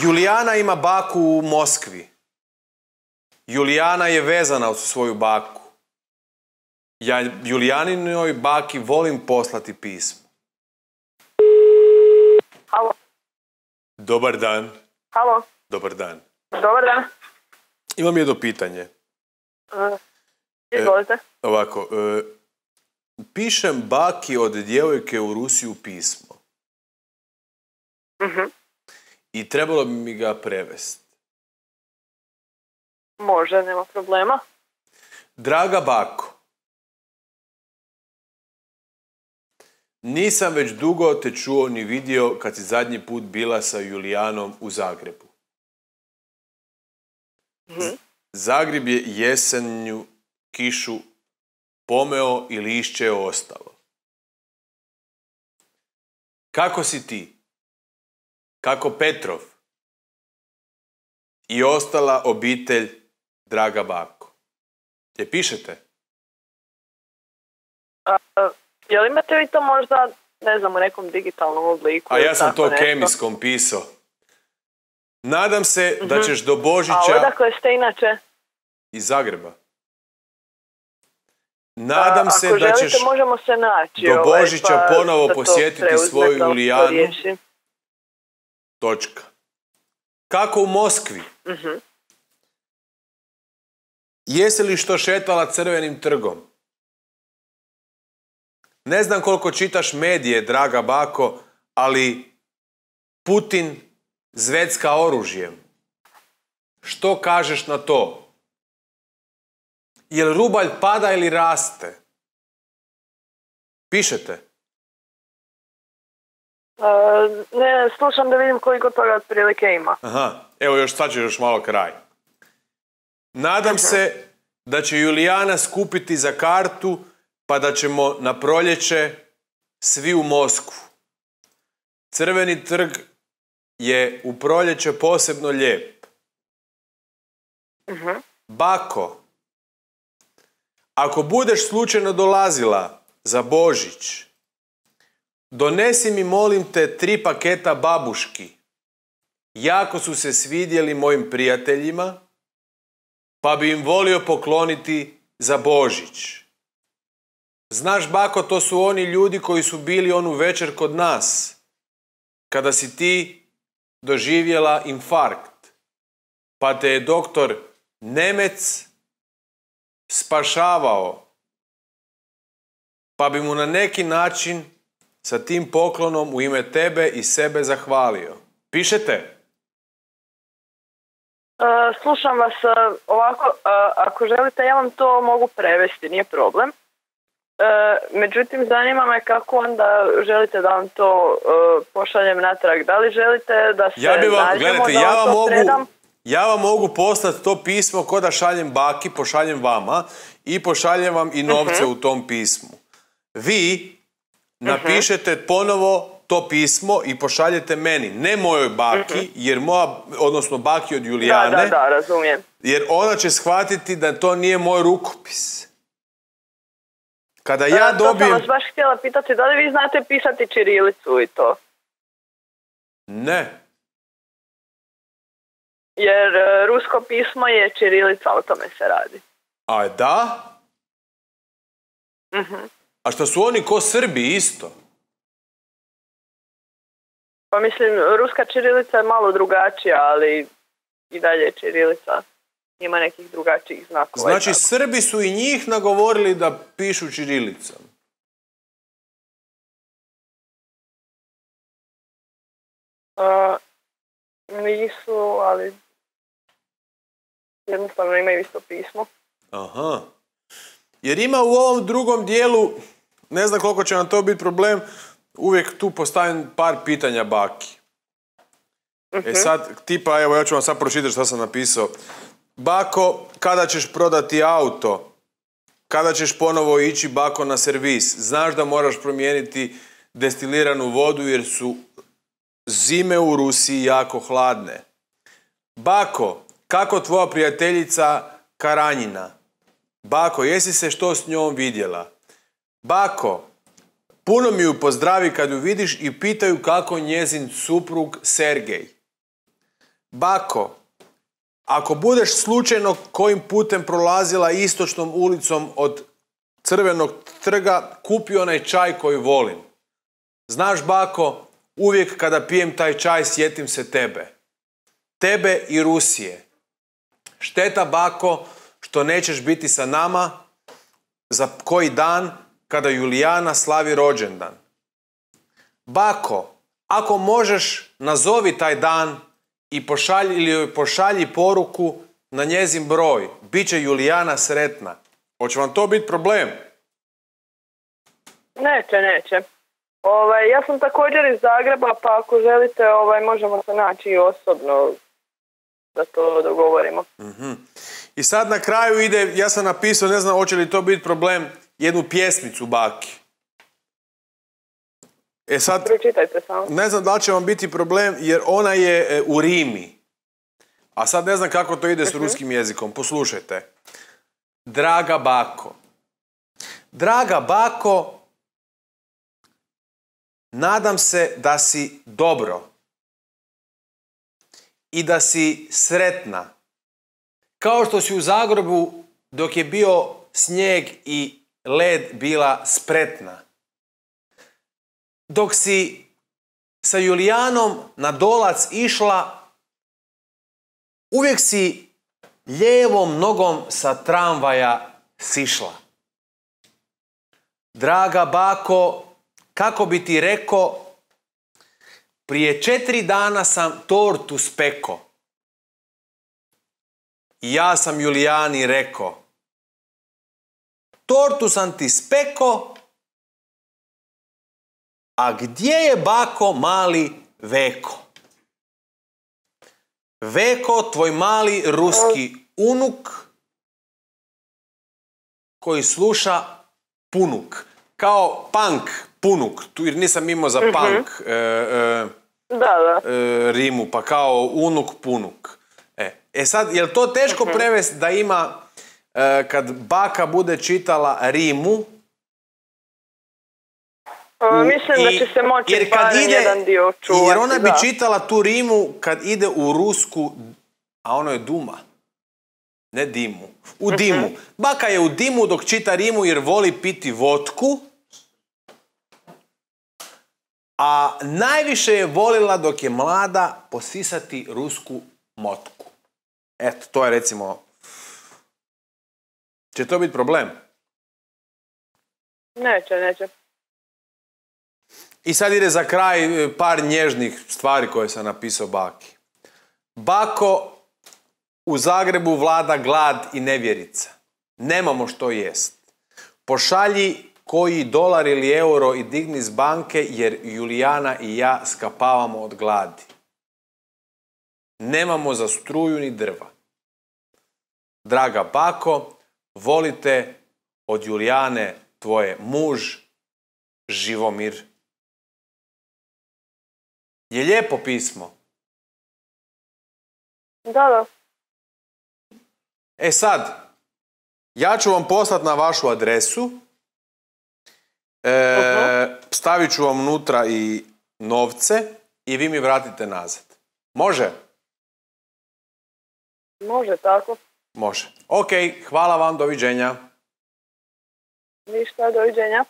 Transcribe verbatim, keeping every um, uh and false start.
Julijana ima baku u Moskvi. Julijana je vezana uz svoju baku. Ja Julijaninoj baki volim poslati pismo. Halo. Dobar dan. Halo. Dobar dan. Dobar dan. Imam jedno pitanje. Uh, izvolite. E, ovako, e, pišem baki od djevojke u Rusiju pismo. Uh-huh. I trebalo bi mi ga prevesti. Može, nema problema. Draga bako, nisam već dugo te čuo ni vidio kad si zadnji put bila sa Julijanom u Zagrebu. Uh-huh. Zagreb je jesenju kišu pomeo i lišće je ostalo. Kako si ti? Kako Petrov? I ostala obitelj, draga bako. Je pišete? A, a, jel imate vi to možda, ne znam, u nekom digitalnom obliku? A ja sam to nešto? kemijskom pisao. Nadam se Uh-huh. da ćeš do Božića... A odakle ste inače? Iz Zagreba. Nadam a, se ako da želite, ćeš možemo se naći, do ovaj, Božića pa ponovo da to posjetiti preuzmete, svoju da to Julijanu. riješim. Točka. Kako u Moskvi? Uh-huh. Jesi li što šetala Crvenim trgom? Ne znam koliko čitaš medije, draga bako, ali Putin zvecka oružjem. Što kažeš na to? Jel rubalj pada ili raste? Pišete? Uh, ne, slušam da vidim koliko toga otprilike ima. Aha, evo još sad će još malo kraj. Nadam uh-huh. se da će Julijana skupiti za kartu pa da ćemo na proljeće svi u Moskvu. Crveni trg je u proljeće posebno lijep. Uh-huh. Bako, ako budeš slučajno dolazila za Božić, donesi mi, molim te, tri paketa babuški. Jako su se svidjeli mojim prijateljima, pa bi im volio pokloniti za Božić. Znaš, bako, to su oni ljudi koji su bili onu večer kod nas, kada si ti doživjela infarkt, pa te je doktor Nemec spašavao, pa bi mu na neki način sa tim poklonom u ime tebe i sebe zahvalio. Pišete? Uh, slušam vas, uh, ovako, uh, ako želite, ja vam to mogu prevesti, nije problem. Uh, međutim, zanima me kako onda želite da vam to uh, pošaljem natrag. Da li želite da se ja bi vam, nađemo, gledajte, da ja vam vam to mogu, predam? ja vam mogu poslati to pismo ko da šaljem baki, pošaljem vama i pošaljem vam i novce uh-huh. u tom pismu. Vi napišete uh-huh. ponovo to pismo i pošaljete meni, ne mojoj baki, uh-huh. jer moja, odnosno baki od Julijane, da, da, da, razumijem. Jer ona će shvatiti da to nije moj rukopis. Kada ja da, dobijem... To sam vas baš htjela pitati, da li vi znate pisati ćirilicu i to? Ne. Jer uh, rusko pismo je ćirilica, o tome se radi. A da? Uh-huh. A što su oni ko Srbi isto? Pa mislim, ruska ćirilica je malo drugačija, ali i dalje je ćirilica. Ima nekih drugačijih znakova. Znači, Srbi su i njih nagovorili da pišu ćirilicom. Uh, nisu, ali jednostavno imaju isto pismo. Aha. Jer ima u ovom drugom dijelu, ne znam koliko će nam to biti problem, uvijek tu postavim par pitanja baki. Uh-huh. E sad, tipa, evo ja ću vam sad pročitati što sam napisao. Bako, kada ćeš prodati auto? Kada ćeš ponovo ići, bako, na servis? Znaš da moraš promijeniti destiliranu vodu jer su zime u Rusiji jako hladne. Bako, kako tvoja prijateljica Karanjina? Bako, jesi se što s njom vidjela? Bako, puno mi ju pozdravi kad ju vidiš i pitaju kako njezin suprug Sergej. bako, ako budeš slučajno kojim putem prolazila istočnom ulicom od Crvenog trga, kupi onaj čaj koji volim. Znaš, bako, uvijek kada pijem taj čaj sjetim se tebe. Tebe i Rusije. Šteta, bako, što nećeš biti sa nama za koji dan kada Julijana slavi rođendan. Bako, ako možeš, nazovi taj dan i pošalji, ili joj pošalji poruku na njezin broj. Biće Julijana sretna. Hoće vam to biti problem? Neće, neće. Ovaj, ja sam također iz Zagreba, pa ako želite, ovaj, možemo se naći i osobno da to dogovorimo. Mm-hmm. I sad na kraju ide, ja sam napisao, ne znam hoće li to biti problem, jednu pjesmicu baki. E sad, pročitajte samo. Ne znam da li će vam biti problem jer ona je e, u rimi. A sad ne znam kako to ide s uh-huh. ruskim jezikom. Poslušajte. Draga bako. Draga bako, nadam se da si dobro. I da si sretna. Kao što si u Zagrebu dok je bio snijeg i led bila spretna. Dok si sa Julijanom na Dolac išla, uvijek si lijevom nogom sa tramvaja sišla. Draga bako, kako bi ti rekao, prije četiri dana sam tortu speko. I ja sam Julijani rekao, tortu sam ti speko, a gdje je bako mali Veko? Veko, tvoj mali ruski unuk koji sluša punuk. Kao punk, punuk. Tu jer nisam imao za mm-hmm. punk e, e, da, da. E, rimu, pa kao unuk, punuk. E, e sad, je li to teško mm-hmm. prevesti da ima, e, kad baka bude čitala rimu, U, Mislim i, da će se moći barem jedan dio čuvati. Jer ona bi da. čitala tu rimu kad ide u rusku, a ono je duma, ne dimu, u uh-huh. dimu. Baka je u dimu dok čita rimu jer voli piti vodku, a najviše je volila dok je mlada posisati rusku motku. Eto, to je recimo... Će to biti problem? Neće, neće. I sad ide za kraj par nježnih stvari koje sam napisao baki. Bako, u Zagrebu vlada glad i nevjerica. Nemamo što jest. Pošalji koji dolar ili euro i digni s banke jer Julijana i ja skapavamo od gladi. Nemamo za struju ni drva. Draga bako, volite od Julijane tvoje muž Živomir. Je lijepo pismo? Da, da. E sad, ja ću vam poslati na vašu adresu. E, uh-huh. Stavit ću vam unutra i novce i vi mi vratite nazad. Može? Može, tako. Može. Ok, hvala vam, doviđenja. Ništa, doviđenja.